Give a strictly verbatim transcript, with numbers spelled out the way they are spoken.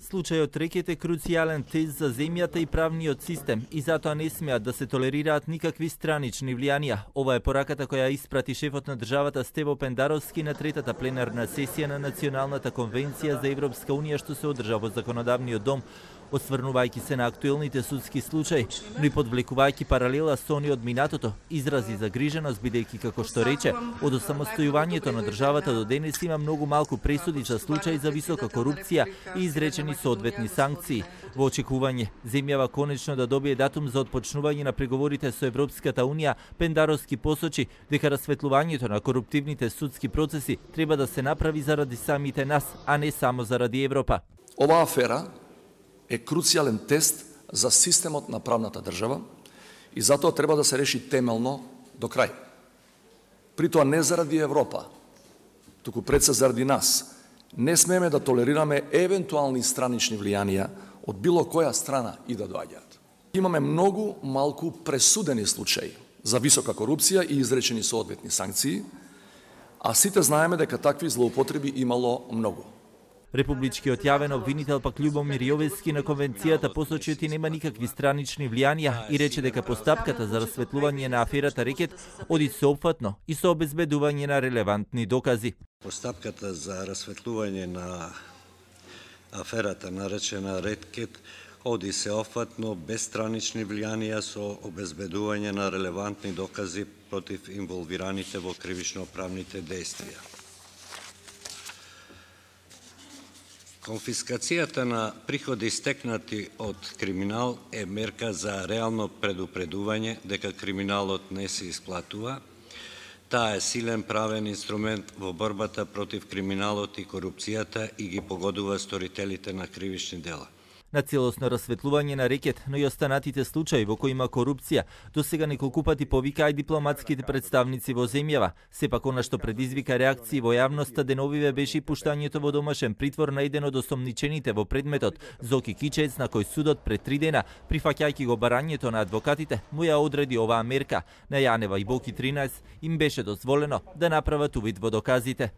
Случајот Рекет е круцијален тест за земјата и правниот систем и затоа не смеат да се толерираат никакви странични влијанија. Ова е пораката која испрати шефот на државата Стево Пендаровски на третата пленарна сесија на Националната конвенција за Европска унија што се одржа во законодавниот дом, осврнувајќи се на актуелните судски случаи, но и подвлекувајќи паралела со они од минатото, изрази загриженост бидејќи како што рече, од осамостојувањето на државата до денес има многу малку пресуди за случаи за висока корупција и изречени соодветни санкции. Во очекување земјава конечно да добие датум за отпочнување на преговорите со Европската унија, Пендаровски посочи дека расветлувањето на коруптивните судски процеси треба да се направи заради самите нас, а не само заради Европа. Ова афера е круцијален тест за системот на правната држава и затоа треба да се реши темелно до крај. При тоа не заради Европа, туку пред се заради нас. Не смееме да толерираме евентуални странични влијанија од било која страна и да доаѓаат. Имаме многу малку пресудени случаи за висока корупција и изречени соодветни санкции, а сите знаеме дека такви злоупотреби имало многу. Републичкиот јавен обвинител пак Љубомир Јовески на конвенцијата посочи дека нема никакви странични влијанија и рече дека постапката за расветлување на аферата Рекет оди сеопфатно и со обезбедување на релевантни докази. Постапката за расветлување на аферата наречена Рекет оди сеопфатно без странични влијанија со обезбедување на релевантни докази против инволвираните во кривично-правните дејствија. Конфискацијата на приходи стекнати од криминал е мерка за реално предупредување дека криминалот не се исплатува. Таа е силен правен инструмент во борбата против криминалот и корупцијата и ги погодува сторителите на кривични дела. На целосно расветлување на Рекет, но и останатите случаи во кои има корупција, досега неколку пати повикаа и дипломатските представници во земјава. Сепак она што предизвика реакции во јавноста деновиве беше и пуштањето во домашен притвор на еден од осомничените во предметот, Зоки Кичец, на кој судот пред три дена, прифаќајќи го барањето на адвокатите, му ја одреди оваа мерка. На Јанева и Боки тринаесет им беше дозволено да направат увид во доказите.